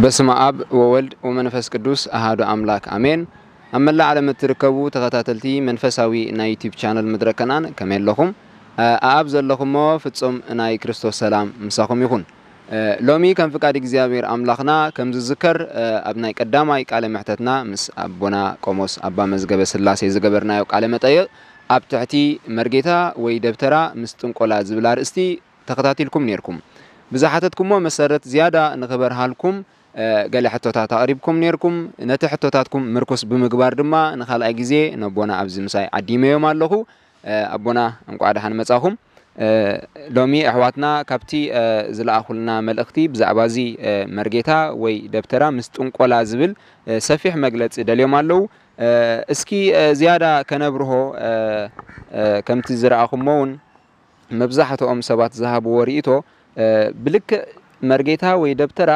በስመ ኣብ ወወልድ ወመንፈስ ቅዱስ ኣሃዱ ኣምላክ ኣሜን። ኣብ መላእ ዓለም እትርከቡ ተኸታተልቲ መንፈሳዊ ናይ ዩቲዩብ ቻነል መድረከናን ከመይ ኣለኹም? ኣኣብ ዘለኹሞ ፍጹም ናይ ክርስቶስ ሰላም ምሳኹም ይኹን። ሎሚ ከም ፍቃድ እግዚኣብሔር ኣምላኽና ከም ዝዝከር ኣብ ናይ ቀዳማይ ቃለ ምሕተትና ምስ ኣቦና ቆሞስ ኣባ መዝገበ ስላሴ ዝገበርናዮ ቃለ መጠይቕ ኣብ ትሕቲ መርጌታ ወይ ደብተራ ምስ ጥንቆላ ዝብል ኣርእስቲ ተኸታቲልኩም ኔርኩም። ብዝሓተትኩሞ መሰረት ዝያዳ ንኽበርሃልኩም ገለ ሕቶታት ኣቕሪብኩም ኔርኩም። ነቲ ሕቶታትኩም ምርኩስ ብምግባር ድማ ንኻልኣይ ግዜ ነቦና ኣብዚ ምሳይ ዓዲመዮም ኣለኹ። ኣቦና እንቋዕ ደሓን መጻኹም። ሎሚ ኣሕዋትና ካብቲ ዝለኣኹልና መልእኽቲ ብዛዕባ እዚ መርጌታ ወይ ደብተራ ምስ ጥንቆላ ዝብል ሰፊሕ መግለጺ ደልዮም ኣለዉ። እስኪ ዝያዳ ከነብርሆ ከምቲ ዝረኣኹሞ እውን መብዛሕትኦም ሰባት ዝሃብዎ ርእይቶ ብልክዕ መርጌታ ወይ ደብተራ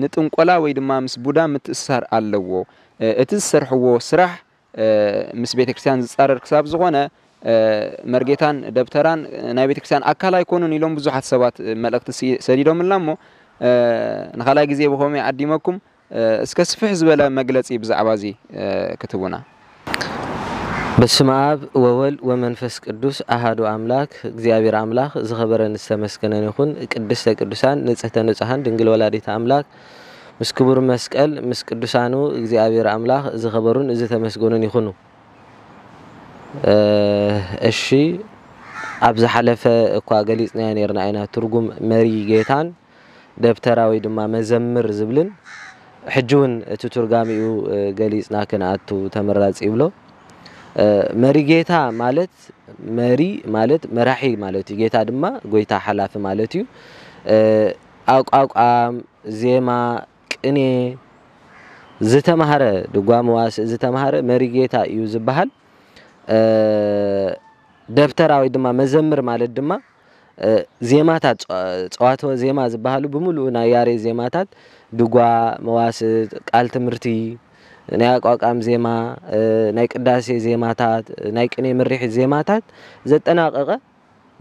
ንጥንቆላ ወይ ድማ ምስ ቡዳ ምትእስሳር ኣለዎ። እቲ ዝሰርሕዎ ስራሕ ምስ ቤተ ክርስቲያን ዝጻረር ክሳብ ዝኾነ መርጌታን ደብተራን ናይ ቤተ ክርስቲያን ኣካል ኣይኮኑን ኢሎም ብዙሓት ሰባት መልእኽቲ ሰዲዶምልና እሞ ንኻልኣይ ግዜ ብኸመይ ዓዲመኩም እስከ ስፍሕ ዝበለ መግለጺ ብዛዕባ እዚ ክትቡና። በስመ ኣብ ወወልድ ወመንፈስ ቅዱስ ኣሃዱ ኣምላክ። እግዚኣብሔር ኣምላክ ዝኸበረን ዝተመስገነን ይኹን። ቅድስተ ቅዱሳን ንጽህተ ንጹሃን ድንግል ወላዲተ ኣምላክ ምስ ክቡር መስቀል ምስ ቅዱሳኑ እግዚኣብሔር ኣምላክ ዝኸበሩን ዝተመስገኑን ይኹኑ። እሺ፣ ኣብ ዝሓለፈ እኳ ገሊጽናዮ ኔርና ኢና ትርጉም መሪ ጌታን ደብተራ ወይ ድማ መዘምር ዝብልን፣ ሕጂ እውን እቲ ትርጓሜኡ ገሊጽና ክንኣቱ ተመራጺ ይብሎ። መሪ ጌታ ማለት መሪ ማለት መራሒ ማለት እዩ። ጌታ ድማ ጎይታ ሓላፊ ማለት እዩ። ኣቋቋም፣ ዜማ፣ ቅኔ ዝተማህረ ድጓ መዋስእ ዝተማህረ መሪ ጌታ እዩ ዝበሃል። ደብተራ ወይ ድማ መዘምር ማለት ድማ ዜማታት ጸዋትወ ዜማ ዝበሃሉ ብምሉኡ ናይ ያሬድ ዜማታት ድጓ፣ መዋስእ፣ ቃል ትምህርቲ፣ ናይ ኣቋቋም ዜማ፣ ናይ ቅዳሴ ዜማታት፣ ናይ ቅኔ ምርሒት ዜማታት ዘጠናቐቐ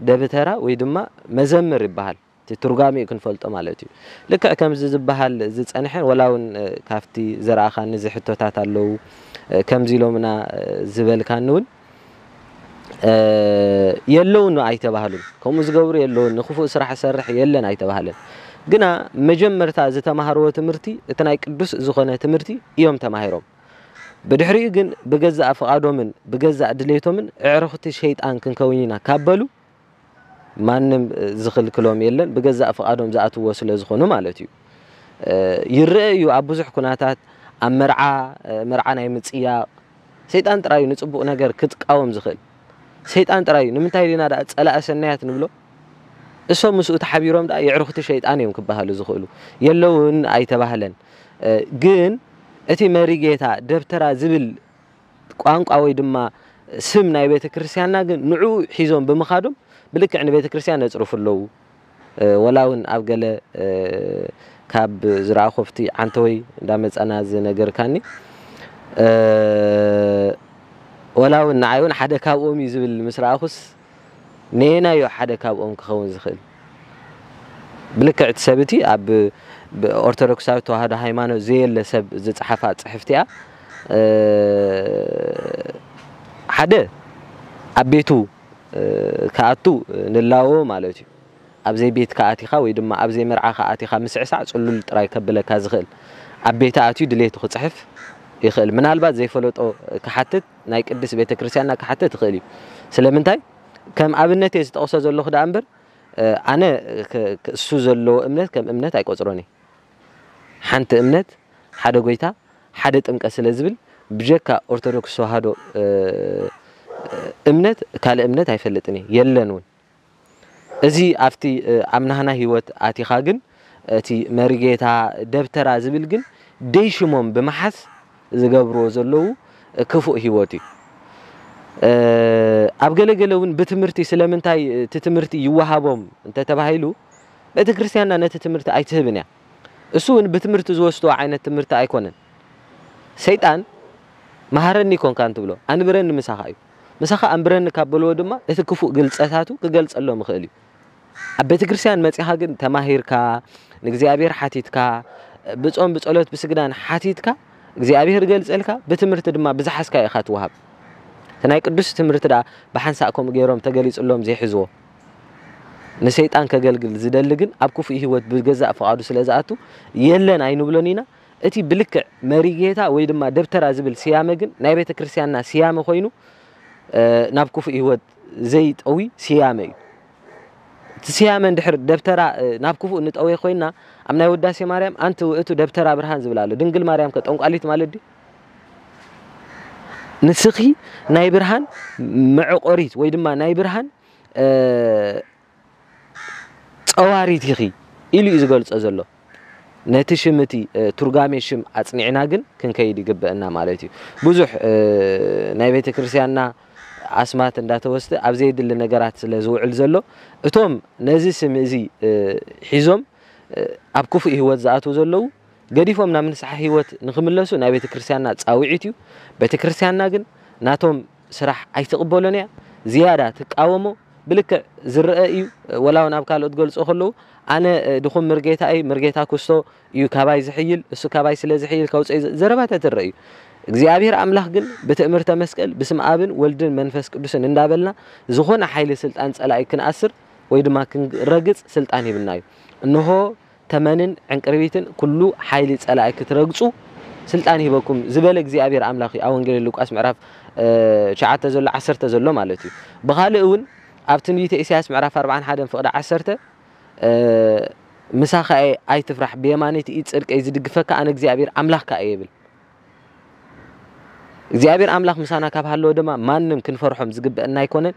ደብተራ ወይ ድማ መዘምር ይበሃል። እቲ ትርጓሜኡ ክንፈልጦ ማለት እዩ። ልክዕ ከምዚ ዝበሃል ዝጸንሐን ወላ እውን ካብቲ ዘርኣኻኒ እዚ ሕቶታት ኣለዉ ከምዚ ኢሎምና ዝበልካኒ እውን የለውን ኣይተባህሉን። ከምኡ ዝገብሩ የለውን፣ ንክፉእ ስራሕ ዝሰርሕ የለን ኣይተባህለን። ግና መጀመርታ ዝተማሃርዎ ትምህርቲ እቲ ናይ ቅዱስ ዝኾነ ትምህርቲ እዮም ተማሂሮም። ብድሕሪኡ ግን ብገዛእ ፍቓዶምን ብገዛእ ድሌቶምን ኣዕሩኽቲ ሸይጣን ክንከውን ኢና ካብ በሉ ማንም ዝኽልክሎም የለን። ብገዛእ ፍቓዶም ዝኣትዎ ስለ ዝኾኑ ማለት እዩ። ይረአ እዩ ኣብ ብዙሕ ኩነታት ኣብ መርዓ፣ መርዓ ናይ ምጽያቕ ሰይጣን ጥራይ እዩ ንጽቡቕ ነገር ክቃወም ዝኽእል። ሰይጣን ጥራይ እዩ። ንምንታይ ዲና ደኣ ጸላኢ ሰናያት ንብሎ? እሶም ምስኡ ተሓቢሮም ደኣ የዕሩኽቲ ሸይጣን እዮም ክበሃሉ ዝኽእሉ። የለውን ኣይተባህለን። ግን እቲ መሪ ጌታ ደብተራ ዝብል ቋንቋ ወይ ድማ ስም ናይ ቤተ ክርስቲያንና ግን ንዕኡ ሒዞም ብምኻዶም ብልክዕ ንቤተ ክርስቲያን ነጽርፉ ኣለዉ። ወላ እውን ኣብ ገለ ካብ ዝረኣኹ ኣብቲ ዓንተወይ እንዳመጻና ዝነገርካኒ ወላ እውን ንዓይ እውን ሓደ ካብኦም እዩ ዝብል ምስ ረኣኹስ ነየናዮ ሓደ ካብኦም ክኸውን ዝኽእል? ብልክዕ እቲ ሰብ እቲ ኣብ ኦርቶዶክሳዊት ተዋህዶ ሃይማኖት ዘየለ ሰብ ዝጸሓፋ ጽሕፍቲ እያ። ሓደ ኣብ ቤቱ ክኣቱ ንላዎ ማለት እዩ። ኣብ ዘይቤትካ ኣቲኻ ወይ ድማ ኣብ ዘይመርዓኻ ኣቲኻ ምስዕሳዕ ጽሉል ጥራይ ከብለካ ዝኽእል። ኣብ ቤቱ ኣትዩ ድሌቱ ክጽሕፍ ይኽእል። ምናልባት ዘይፈለጦ ክሓትት ናይ ቅድስት ቤተ ክርስቲያንና ክሓትት ይኽእል እዩ። ስለምንታይ? ከም ኣብነት እየ ዝጠቕሶ ዘለኹ ደኣ እምበር ኣነ እሱ ዘለዎ እምነት ከም እምነት ኣይቆጽሮን እየ። ሓንቲ እምነት፣ ሓደ ጎይታ፣ ሓደ ጥምቀት ስለ ዝብል ብጀካ ኦርቶዶክስ ተዋህዶ እምነት ካልእ እምነት ኣይፈልጥን እየ፣ የለን እውን። እዚ ኣብቲ ኣብ ናህና ህይወት ኣቲኻ ግን እቲ መሪጌታ ደብተራ ዝብል ግን ደይ ሽሞም ብምሓዝ ዝገብርዎ ዘለዉ ክፉእ ህይወት እዩ። ኣብ ገለገለ እውን ብትምህርቲ ስለምንታይ እቲ ትምህርቲ ይወሃቦም እንተተባሂሉ ቤተ ክርስቲያንና ነቲ ትምህርቲ ኣይትህብን እያ። እሱ እውን ብትምህርቲ ዝወስድዎ ዓይነት ትምህርቲ ኣይኮነን። ሰይጣን መሃረኒ ኮንካ እንትብሎ ኣንብረኒ ምሳኻ እዩ። ምሳኻ ኣንብረኒ ካብ በልዎ ድማ እቲ ክፉእ ግልጸታቱ ክገልጸሎም ይኽእል እዩ። ኣብ ቤተ ክርስቲያን መጺኻ ግን ተማሂርካ ንእግዚኣብሔር ሓቲትካ ብጾም ብጸሎት ብስግዳን ሓቲትካ እግዚኣብሔር ገልጸልካ፣ ብትምህርቲ ድማ ብዝሓዝካ ኢኻ ትወሃብ። እቲ ናይ ቅዱስ ትምህርቲ ደኣ ብሓንሳእ ከምኡ ገይሮም ተገሊጽሎም ዘይሕዝዎ፣ ንሰይጣን ከገልግል ዝደሊ ግን ኣብ ክፉእ ህይወት ብገዛእ ፍቓዱ ስለ ዝኣቱ የለን ኣይንብሎን ኢና። እቲ ብልክዕ መሪጌታ ወይ ድማ ደብተራ ዝብል ስያመ ግን ናይ ቤተ ክርስቲያንና ስያመ ኮይኑ ናብ ክፉእ ህይወት ዘይጠዊ ስያመ እዩ። እቲ ስያመ እንድሕር ደብተራ ናብ ክፉእ ንጠወየ ኮይና ኣብ ናይ ውዳሴ ማርያም ኣንቲ ውእቱ ደብተራ ብርሃን ዝብል ኣሎ። ድንግል ማርያም ከ ጠንቋሊት ማለት ድዩ? ንስኺ ናይ ብርሃን መዕቆሪት ወይ ድማ ናይ ብርሃን ጸዋሪት ኢኺ ኢሉ እዩ ዝገልጾ ዘሎ። ነቲ ሽም እቲ ትርጓሜ ሽም ኣጽኒዕና ግን ክንከይድ ይግበአና ማለት እዩ። ብዙሕ ናይ ቤተ ክርስቲያንና ኣስማት እንዳተወስደ ኣብ ዘየድሊ ነገራት ስለ ዝውዕል ዘሎ እቶም ነዚ ስም እዚ ሒዞም ኣብ ክፉእ ህይወት ዝኣትዉ ዘለዉ ገዲፎም ናብ ንስሓ ህይወት ንኽምለሱ ናይ ቤተ ክርስቲያንና ጻውዒት እዩ። ቤተ ክርስቲያንና ግን ናቶም ስራሕ ኣይትቕበሎን እያ፣ ዝያዳ ትቃወሞ። ብልክዕ ዝረአ እዩ። ወላ እውን ኣብ ካልኦት ገልጾ ከለዉ ኣነ ድኹም ምርጌታ እይ፣ ምርጌታ ክስቶ እዩ ካባይ ዝሕይል፣ እሱ ካባይ ስለ ዝሕይል ከውፅእ ዘረባታት ይረአ እዩ። እግዚኣብሔር ኣምላኽ ግን ብትእምርተ መስቀል ብስም ኣብን ወልድን መንፈስ ቅዱስን እንዳበልና ዝኾነ ሓይሊ ስልጣን ጸላኢ ክንኣስር ወይ ድማ ክንረግጽ ስልጣን ሂብና እዩ። እንሆ ተመንን ዕንቅርቢትን ኩሉ ሓይሊ ጸላኢ ክትረግጹ ስልጣን ሂበኩም ዝበለ እግዚኣብሔር ኣምላኽ እዩ። ኣብ ወንጌል ሉቃስ ምዕራፍ ትሽዓተ ዘሎ ዓሰርተ ዘሎ ማለት እዩ። ብኻልእ እውን ኣብ ትንቢተ ኢሳያስ ምዕራፍ ኣርብዓን ሓደን ፍቕዲ ዓሰርተ ምሳኻ እየ ኣይትፍራሕ፣ ብየማነይቲ ኢድ ጽድቀይ ዝድግፈካ ኣነ እግዚኣብሔር ኣምላኽካ እየ ይብል። እግዚኣብሔር ኣምላኽ ምሳና ካብ ሃለወ ድማ ማንም ክንፈርሖም ዝግበአና ኣይኮነን።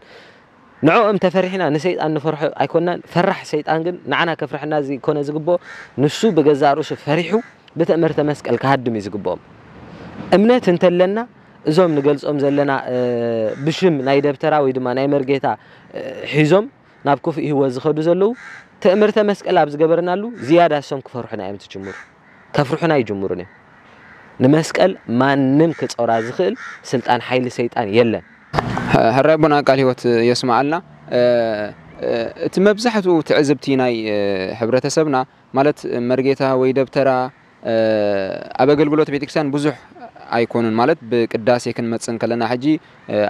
ንዕኦም ተፈሪሕና ንሰይጣን ንፈርሖ ኣይኮናን። ፈራሕ ሰይጣን ግን ንዓና ከፍርሐና ዘይኮነ ዝግብኦ፣ ንሱ ብገዛእ ርእሱ ፈሪሑ ብትእምርተ መስቀል ክሃድም እዩ ዝግብኦም። እምነት እንተለና እዞም ንገልጾም ዘለና ብሽም ናይ ደብተራ ወይ ድማ ናይ መርጌታ ሒዞም ናብ ክፉእ ህይወት ዝኸዱ ዘለዉ ትእምርተ መስቀል ኣብ ዝገበርናሉ ዝያዳ እሶም ክፈርሑና እዮም ዝጅምሩ። ከፍርሑና ይጅምሩን እዮም። ንመስቀል ማንም ክጾራ ዝኽእል ስልጣን ሓይሊ ሰይጣን የለን። ሕራይ ኣቦና ቃል ህይወት የስምዓልና። እቲ መብዛሕትኡ ትዕዝብቲ ናይ ሕብረተሰብና ማለት መርጌታ ወይ ደብተራ ኣብ ኣገልግሎት ቤተክርስትያን ብዙሕ ኣይኮኑን። ማለት ብቅዳሴ ክንመጽእ እንከለና ሕጂ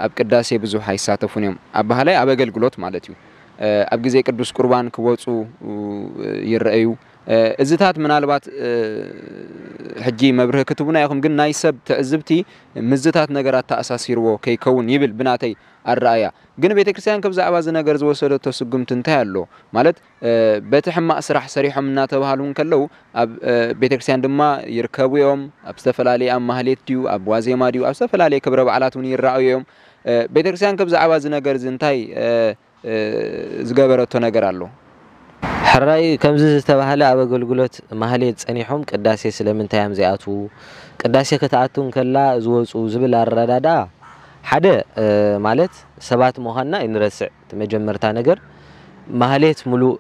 ኣብ ቅዳሴ ብዙሕ ኣይሳተፉን እዮም። ኣባህላይ ኣብ ኣገልግሎት ማለት እዩ። ኣብ ግዜ ቅዱስ ቁርባን ክወጹ ይረኣዩ። እዚታት ምናልባት ሕጂ መብርሂ ክትቡና ኢኹም፣ ግን ናይ ሰብ ትዕዝብቲ ምዝታት ነገራት ተኣሳሲርዎ ከይከውን ይብል ብናተይ ኣረኣያ። ግን ቤተክርስትያን ከብ ዛዕባ እዚ ነገር ዝወሰደቶ ስጉምቲ እንታይ ኣሎ? ማለት በቲ ሕማቕ ስራሕ ሰሪሖም እናተባሃሉ እንከለዉ ኣብ ቤተክርስትያን ድማ ይርከቡ እዮም። ኣብ ዝተፈላለየ ኣብ ማህሌት ድዩ ኣብ ዋዜማ ድዩ ኣብ ዝተፈላለየ ክብረ በዓላት እውን ይረኣዩ እዮም። ቤተክርስትያን ከብ ዛዕባ እዚ ነገር እዚ እንታይ ዝገበረቶ ነገር ኣሎ? ሕራይ ከምዚ ዝተባህለ ኣብ ኣገልግሎት ማህሌት ጸኒሖም ቅዳሴ ስለምንታይ እዮም ዘይኣትዉ? ቅዳሴ ክትኣቱ እንከላ ዝወፁ ዝብል ኣረዳድኣ ሓደ ማለት ሰባት ምዃንና ኣይንረስዕ። እቲ መጀመርታ ነገር ማህሌት ሙሉእ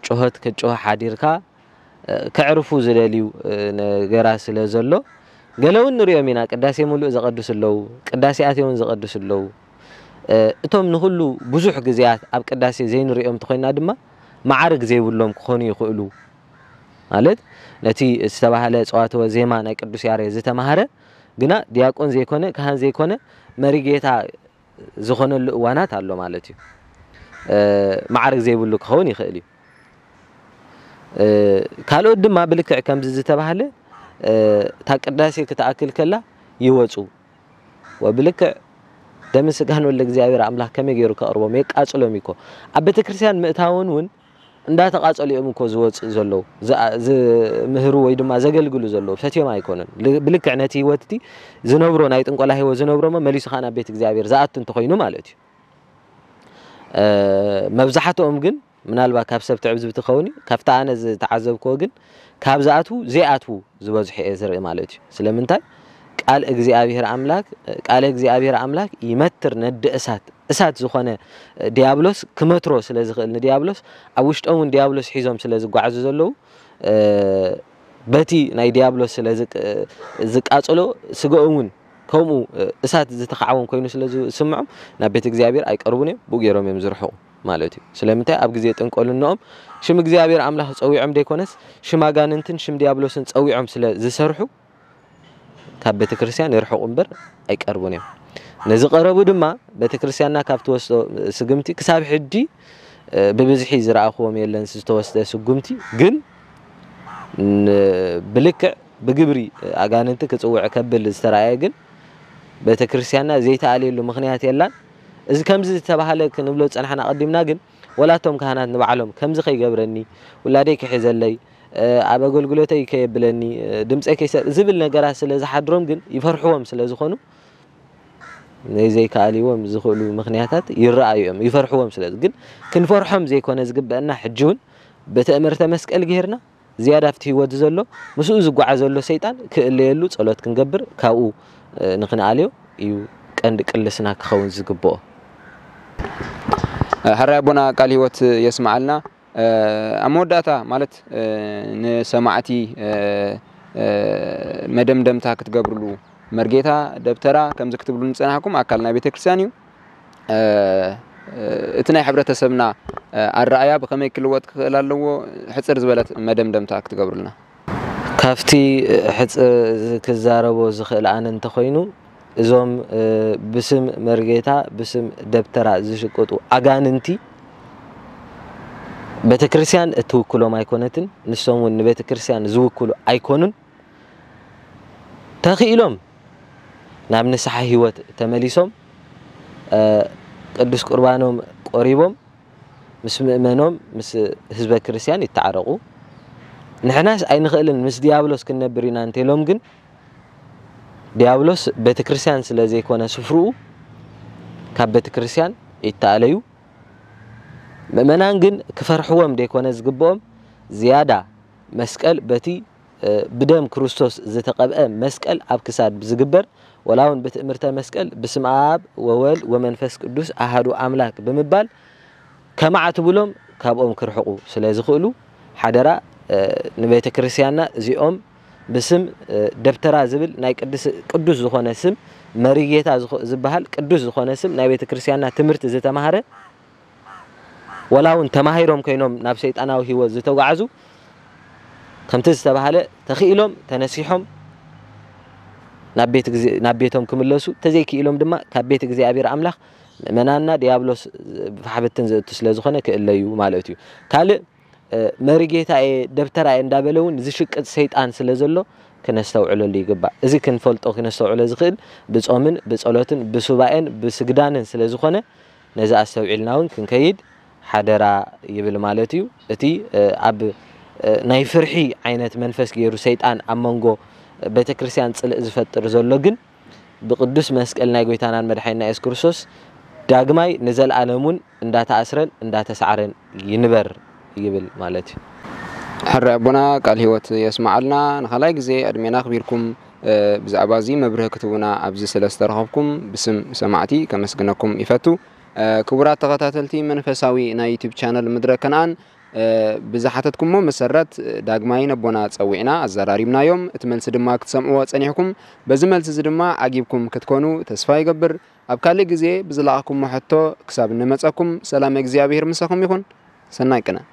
ጩኸት ክትጩኸ ሓዲርካ ከዕርፉ ዝደልዩ ነገራት ስለ ዘሎ ገለ እውን ንሪኦም ኢና። ቅዳሴ ሙሉእ ዘቐድሱ ኣለዉ፣ ቅዳሴ ኣትዮም እውን ዘቐድሱ ኣለዉ። እቶም ንኹሉ ብዙሕ ግዜያት ኣብ ቅዳሴ ዘይንሪኦም እንተኾይና ድማ መዓርግ ዘይብሎም ክኾኑ ይኽእሉ። ማለት ነቲ ዝተባህለ ጸዋትወ ዜማ ናይ ቅዱስ ያሬድ ዝተማህረ ግና ዲያቆን ዘይኮነ ካህን ዘይኮነ መሪጌታ ዝኾነሉ እዋናት ኣሎ ማለት እዩ። መዓርግ ዘይብሉ ክኸውን ይኽእል እዩ። ካልኦት ድማ ብልክዕ ከምዚ ዝተባህለ እታ ቅዳሴ ክትኣክል ከላ ይወፁ። ወብልክዕ ደምን ስጋን ወልደ እግዚኣብሔር ኣምላኽ ከመይ ገይሩ ከቕርቦም የቃፅሎም እኮ። ኣብ ቤተክርስትያን ምእታውን እውን እንዳተቓፀሉ እዮም እኮ ዝወፅእ ዘለዉ፣ ዝምህሩ ወይ ድማ ዘገልግሉ ዘለዉ፣ ፈትዮም ኣይኮኑን። ብልክዕ ነቲ ህይወት እቲ ዝነብሮ ናይ ጥንቆላ ህይወት ዝነብሮ እሞ መሊሱ ከዓ ናብ ቤት እግዚኣብሔር ዝኣቱ እንተኾይኑ ማለት እዩ። መብዛሕትኦም ግን ምናልባት ካብ ሰብ ትዕዝብቲ ክኸውን እዩ፣ ካብቲ ኣነ ዝተዓዘብክዎ ግን ካብ ዝኣትዉ ዘይኣትዉ ዝበዝሑ እየ ዝርኢ ማለት እዩ። ስለምንታይ? ቃል እግዚኣብሔር ኣምላክ ቃለ እግዚኣብሔር ኣምላክ ይመትር ነዲ እሳት እሳት ዝኾነ ዲያብሎስ ክመትሮ ስለ ዝኽእል ንዲያብሎስ ኣብ ውሽጦም እውን ዲያብሎስ ሒዞም ስለ ዝጓዓዙ ዘለዉ በቲ ናይ ዲያብሎስ ስለ ዝቃጽሎ ስጋኦም እውን ከምኡ እሳት ዝተኻዕወም ኮይኑ ስለ ዝስምዖም ናብ ቤት እግዚኣብሔር ኣይቀርቡን እዮም፣ ብኡ ገይሮም እዮም ዝርሕቑ። ማለት እዩ። ስለምንታይ? ኣብ ግዜ ጥንቆልንኦም ሽም እግዚኣብሔር ኣምላኽ ጸዊዖም ደይኮነስ ሽም ኣጋንንትን ሽም ዲያብሎስን ጸዊዖም ስለ ዝሰርሑ ካብ ቤተ ክርስቲያን ይርሕቑ እምበር ኣይቀርቡን እዮም። ነዚ ቀረቡ ድማ ቤተ ክርስቲያንና ካብ ትወስዶ ስግምቲ ክሳብ ሕጂ ብብዝሒ ዝረኣኽዎም የለን ዝተወስደ ስጉምቲ። ግን ብልክዕ ብግብሪ ኣጋንንቲ ክጽውዕ ከብል ዝተራእየ ግን ቤተ ክርስቲያንና ዘይተኣልየሉ ምኽንያት የላን። እዚ ከምዚ ዝተባህለ ክንብሎ ዝጸናሕና ኣቐዲምና ግን ወላቶም ካህናት ንባዕሎም ከምዚ ከይገብረኒ፣ ውላደይ ክሕዘለይ፣ ኣብ ኣገልግሎተይ ከየብለኒ፣ ድምፀይ ከይሰ ዝብል ነገራት ስለ ዝሓድሮም ግን ይፈርሕዎም ስለ ዝኾኑ ናይ ዘይከኣልዎም ዝኽእሉ ምኽንያታት ይረኣዩ እዮም። ይፈርሕዎም ስለ ግን ክንፈርሖም ዘይኮነ ዝግበአና ሕጂ እውን ብትእምርተ መስቀል ገይርና ዝያዳ ኣብቲ ህይወት ዘሎ ምስኡ ዝጓዓዝ ዘሎ ሰይጣን ክእለየሉ ጸሎት ክንገብር ካብኡ ንክንኣልዮ እዩ ቀንዲ ቅልስና ክኸውን ዝግብኦ። ሕራይ ኣቦና ቃል ህይወት የስምዓልና። ኣብ መወዳእታ ማለት ንሰማዕቲ መደምደምታ ክትገብርሉ መርጌታ ደብተራ ከምዚ ክትብሉ ንጸናሕኩም ኣካል ናይ ቤተክርስትያን እዩ። እቲ ናይ ሕብረተሰብና ኣረኣያ ብኸመይ ክልወጥ ክኽእል ኣለዎ? ሕጽር ዝበለት መደምደምታ ክትገብሩልና። ካብቲ ሕጽር ክዛረቦ ዝኽእል ኣነ እንተኾይኑ እዞም ብስም መርጌታ ብስም ደብተራ ዝሽቅጡ ኣጋንንቲ ቤተክርስትያን እትውክሎም ኣይኮነትን። ንሶም እውን ንቤተክርስትያን ዝውክሉ ኣይኮኑን። ተኽኢሎም ናብ ንስሓ ህይወት ተመሊሶም ቅዱስ ቁርባኖም ቆሪቦም ምስ ምእመኖም ምስ ህዝበ ክርስትያን ይተዓረቑ። ንሕናስ ኣይንኽእልን ምስ ዲያብሎስ ክንነብር ኢና እንተሎም ግን ዲያብሎስ ቤተ ክርስትያን ስለ ዘይኮነ ስፍርኡ ካብ ቤተ ክርስትያን ይተኣለዩ። ምእመናን ግን ክፈርሕዎም ደይኮነ ዝግብኦም ዝያዳ መስቀል በቲ ብደም ክርስቶስ ዝተቐብአ መስቀል ኣብ ክሳድ ዝግበር ወላ እውን ብትእምርተ መስቀል ብስም ኣብ ወወልድ ወመንፈስ ቅዱስ ኣሃዱ ኣምላክ ብምባል ከማዕትብሎም ካብኦም ክርሕቁ ስለ ዝኽእሉ ሓደራ ንቤተ ክርስቲያንና እዚኦም ብስም ደብተራ ዝብል ናይ ቅዱስ ዝኾነ ስም መሪጌታ ዝበሃል ቅዱስ ዝኾነ ስም ናይ ቤተ ክርስቲያንና ትምህርቲ ዝተማህረ ወላ እውን ተማሂሮም ኮይኖም ናብ ሰይጣናዊ ህይወት ዝተጓዓዙ ከምቲ ዝተባህለ ተኽኢሎም ተነሲሖም ናብ ቤቶም ክምለሱ ተዘይክኢሎም ድማ ካብ ቤት እግዚኣብሔር ኣምላኽ ምእመናንና ዲያብሎስ ፋሕብትን ዘእቱ ስለ ዝኾነ ክእለዩ ማለት እዩ። ካልእ መሪጌታ እየ ደብተራ እየ እንዳበለ እውን ዝሽቅጥ ሰይጣን ስለ ዘሎ ክነስተውዕለሉ ይግባእ። እዚ ክንፈልጦ ክነስተውዕሎ ዝኽእል ብጾምን ብጸሎትን ብሱባኤን ብስግዳንን ስለ ዝኾነ ነዚ ኣስተውዒልና እውን ክንከይድ ሓደራ ይብል ማለት እዩ። እቲ ኣብ ናይ ፍርሒ ዓይነት መንፈስ ገይሩ ሰይጣን ኣብ መንጎ ቤተ ክርስቲያን ጽልእ ዝፈጥር ዘሎ ግን ብቅዱስ መስቀል ናይ ጎይታናን መድሓኒና የሱስ ክርስቶስ ዳግማይ ንዘለኣለም እውን እንዳተኣስረን እንዳተሳዕረን ይንበር ይብል ማለት እዩ። ሕራይ ኣቦና ቃል ህይወት የስምዓልና። ንኻልኣይ ግዜ ዕድሜና ኣኽቢርኩም ብዛዕባ እዚ መብርሂ ክትህቡና ኣብዚ ስለ ዝተረኸብኩም ብስም ሰማዕቲ ከመስግነኩም ይፈቱ። ክቡራት ተኸታተልቲ መንፈሳዊ ናይ ዩቲዩብ ቻነል ምድረ ከነኣን ብዝሓተትኩሞ መሰረት ዳግማይ ነቦና ጸዊዕና ኣዘራሪብናዮም። እቲ መልሲ ድማ ክትሰምዕዎ ጸኒሕኩም። በዚ መልሲ እዚ ድማ ዓጊብኩም ክትኮኑ ተስፋ ይገብር። ኣብ ካልእ ግዜ ብዝለኣኽኩሞ ሕቶ ክሳብ እንመጸኩም ሰላም እግዚኣብሔር ምሳኹም ይኹን። ሰናይ ቅነ።